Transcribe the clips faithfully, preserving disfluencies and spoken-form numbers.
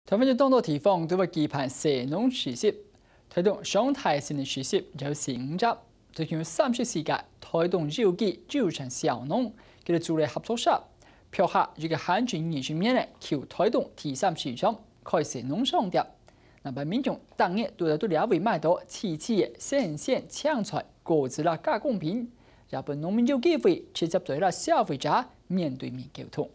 臺灣有當多地方都會舉辦細農市集，臺東上大型个市集有十五隻，就有三十四個臺東有機友善小農，佢等組了合作社，標下一個限制二十名个去臺東第三市場開細農商店。南部民眾逐日都在這位買到萋萋个新鮮青菜、果子啦、加工品，也分農民有機會直接對這消費者面對面溝通。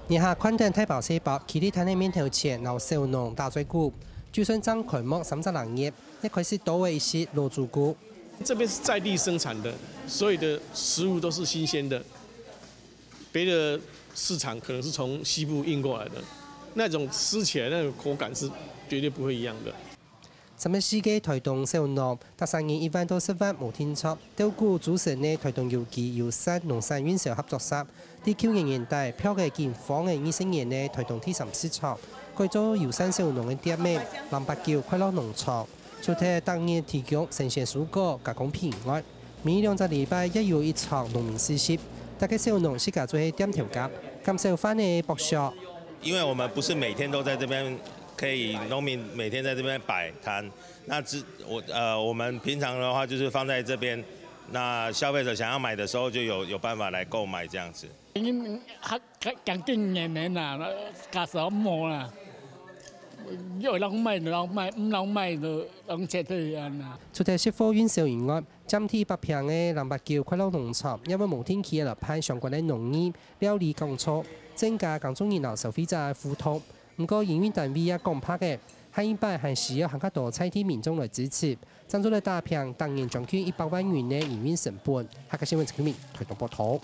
這下看等大包細包，企在攤仔面頭前，摎小農打嘴鼓。就算正開幕三十零日，也開始多了一息老主顧。這邊是在地生產的，所有的食物都是新鮮的，別的市場可能是從西部運過來的，那種吃起來那個口感是絕對不會一樣的。 三十四個臺東小農，逐儕人一萬到十萬無定著，鬥鼓組成个臺東有機友善農產運銷合作社，在舊年年底，標个金黃个二十年个臺東第三市場，改做友善小農个店面，南八九快樂農場。除忒逐日提供新鮮蔬果、加工品外，每兩隻禮拜也有一場農民市集，逐個小農自家做係店頭家，減少飯个剝削。因為我們不是每天都在這邊，可以農民每天在這邊擺攤， 那只我呃，我們平常的話就是放在這邊，那消費者想要買的時候就有有辦法來購買這樣子。已經較較將近兩年啦，價數無啦，有人買就人買，毋人買就人撤退安啦。除忒食貨運銷以外，佔地百坪个南八九快樂農場，也會無定期來辦相關个農藝、料理講座，增加耕種人摎消費者个互動。 毋過營運單位也講白个，下一擺還需要還較多在地民眾來支持，正做得打平逐年將近一百萬元个營運成本。客家新聞陳啟明，臺東報導。